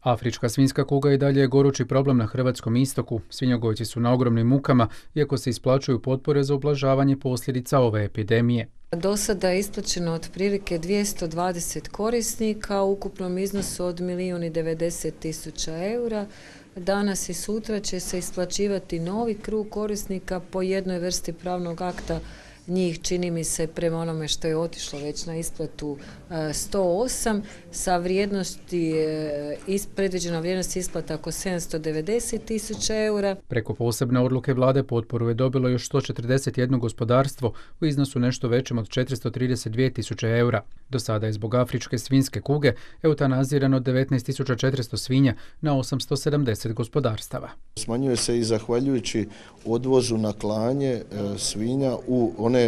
Afrička svinjska kuga i dalje je gorući problem na hrvatskom istoku. Svinjogojci su na ogromnim mukama, iako se isplaćuju potpore za ublažavanje posljedica ove epidemije. Do sada je isplaćeno otprilike 220 korisnika u ukupnom iznosu od 1.090.000 eura. Danas i sutra će se isplaćivati novi krug korisnika po jednoj vrsti pravnog akta. Njih, čini mi se, prema onome što je otišlo već na isplatu 108, sa vrijednosti, predviđena vrijednost isplata oko 790.000 eura. Preko posebne odluke vlade potporu je dobilo još 141 gospodarstvo u iznosu nešto većem od 432.000 eura. Do sada je zbog afričke svinjske kuge eutanazirano 19.400 svinja na 870 gospodarstava. Smanjuje se i zahvaljujući odvozu na klanje svinja u one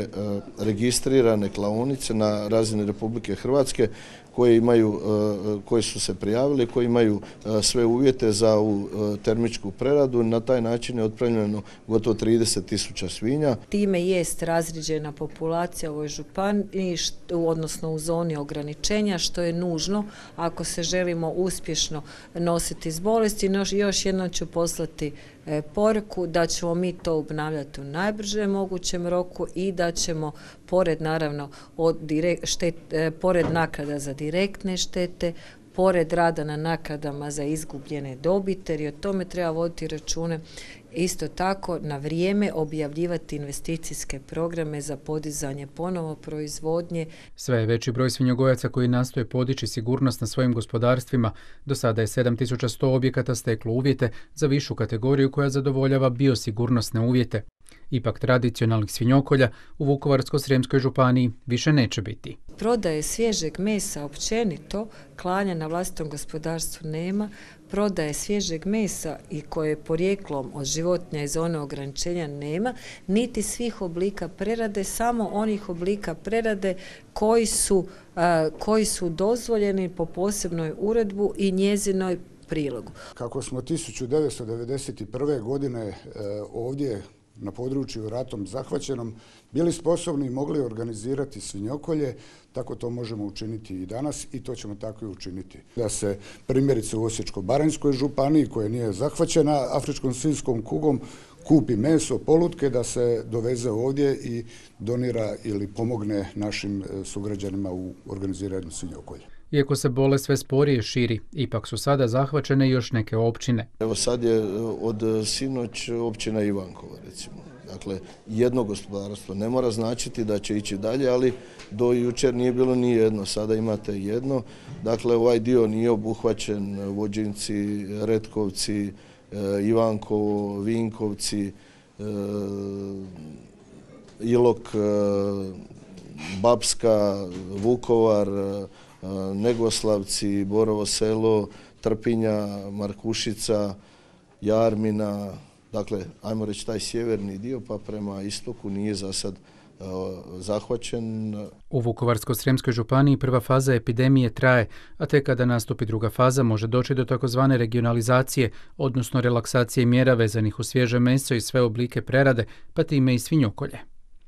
registrirane klaonice na razini Republike Hrvatske koje su se prijavili, koji imaju sve uvjete za ovu termičku preradu. Na taj način je otpremljeno gotovo 30.000 svinja. Time jest razrijeđena populacija u ovoj županiji, odnosno u zoni ograničenja, što je nužno ako se želimo uspješno nositi s bolesti. Još jednom ću poslati poruku da ćemo mi to obnavljati u najbržem mogućem roku i da ćemo, pored naravno pored naknada za direktne štete, pored rada na naknadama za izgubljene dobiti, jer i o tome treba voditi račune, isto tako na vrijeme objavljivati investicijske programe za podizanje ponovo proizvodnje. Sve je veći broj svinjogojaca koji nastoje podići sigurnost na svojim gospodarstvima. Do sada je 7100 objekata steklo uvjete za višu kategoriju koja zadovoljava biosigurnosne uvjete. Ipak tradicionalnih svinjokolja u Vukovarsko-srijemskoj županiji više neće biti. Prodaje svježeg mesa općenito, klanja na vlastitom gospodarstvu nema, prodaje svježeg mesa i koje je porijeklom od životinja iz zone ograničenja nema, niti svih oblika prerade, samo onih oblika prerade koji su dozvoljeni po posebnoj uredbu i njezinoj prilogu. Kako smo 1991. godine ovdje na području ratom zahvaćenom bili sposobni i mogli organizirati svinjokolje, tako to možemo učiniti i danas i to ćemo tako i učiniti. Da se primjerice u Osječko-baranjskoj županiji, koja nije zahvaćena afričkom svinjskom kugom, kupi meso, polutke, da se doveze ovdje i donira ili pomogne našim sugrađanima u organiziranju svinjokolja. Iako se bolest sve sporije širi, ipak su sada zahvaćene još neke općine. Evo sad je od sinoć općina Ivankova, recimo. Dakle, jedno gospodarstvo ne mora značiti da će ići dalje, ali do jučer nije bilo ni jedno, sada imate jedno. Dakle, ovaj dio nije obuhvaćen, Vođinci, Retkovci, Ivankovo, Vinkovci, Ilok, Bapska, Vukovar, Negoslavci, Borovo Selo, Trpinja, Markušica, Jarmina, dakle, ajmo reći taj sjeverni dio, pa prema istoku nije za sad zahvaćen. U Vukovarsko-srijemskoj županiji prva faza epidemije traje, a tek kada nastupi druga faza može doći do takozvane regionalizacije, odnosno relaksacije mjera vezanih uz svježe meso i sve oblike prerade, pa time i svinjokolje.